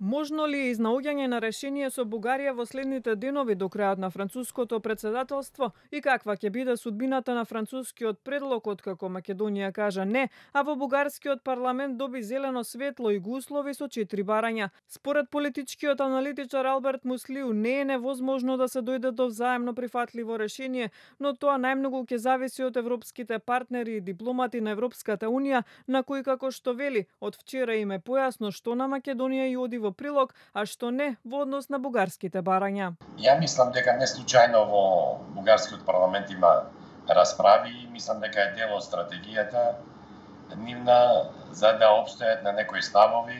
Можно ли е изнаоѓање на решение со Бугарија во следните денови до крајот на француското председателство и каква ќе биде судбината на францускиот предлог откако Македонија кажа не, а во бугарскиот парламент доби зелено светло и го услови со 4 барања? Според политичкиот аналитичар Алберт Муслиу не е невозможно да се дојде до взаемно прифатливо решение, но тоа најмногу ќе зависи од европските партнери и дипломати на Европската унија, на кои, како што вели, од вчера им е појасно што на Македонија и оди во прилог, а што не во однос на бугарските барања. Ја мислам дека не случајно во бугарскиот парламент има расправи и мислам дека е дел од стратегијата нивна за да обстојат на некои ставови,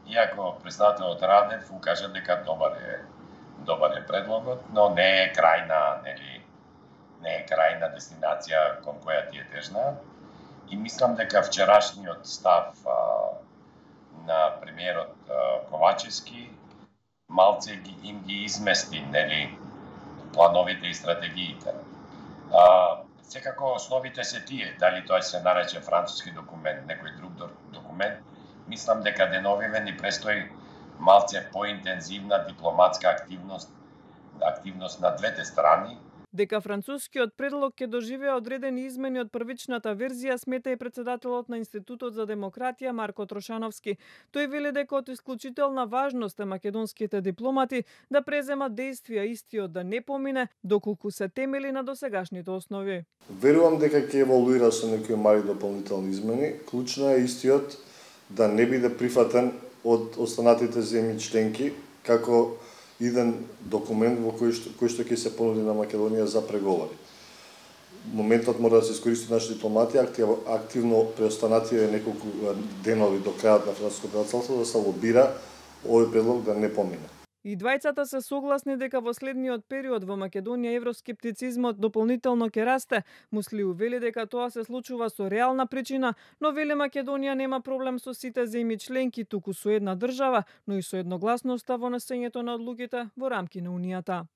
иако председателот Радев укажа дека добар е предлогот, но не е крајна, не е крајна дестинација кон која ти е тежна. И мислам дека вчерашниот став на премиерот Ковачевски малце им ги измести плановите и стратегиите. Секако основите се тие, дали тоа се нарече француски документ, некој друг документ, мислам дека деновиве ни престои малце поинтензивна дипломатска активност на двете страни. Дека францускиот предлог ќе доживее одредени измени од првичната верзија, смета и председателот на Институтот за демократија Марко Трошановски. Тој вели дека од исклучителна важност е македонските дипломати да преземат действија истиот да не помине, доколку се темели на досегашните основи. Верувам дека ќе еволуира со некои мали дополнителни измени. Клучно е истиот да не биде прифатен од останатите земји членки како иден документ во кој што ќе се понуди на Македонија за преговори. Моментот мора да се искористи нашите дипломати активно преостанативе неколку денови до крајот на француското председателство да се лобира овој предлог да не помине. И двајцата се согласни дека во следниот период во Македонија евроскептицизмот дополнително ќе расте. Муслиу вели дека тоа се случува со реална причина, но вели Македонија нема проблем со сите земји членки, туку со една држава, но и со едногласноста во носењето на одлуките во рамки на Унијата.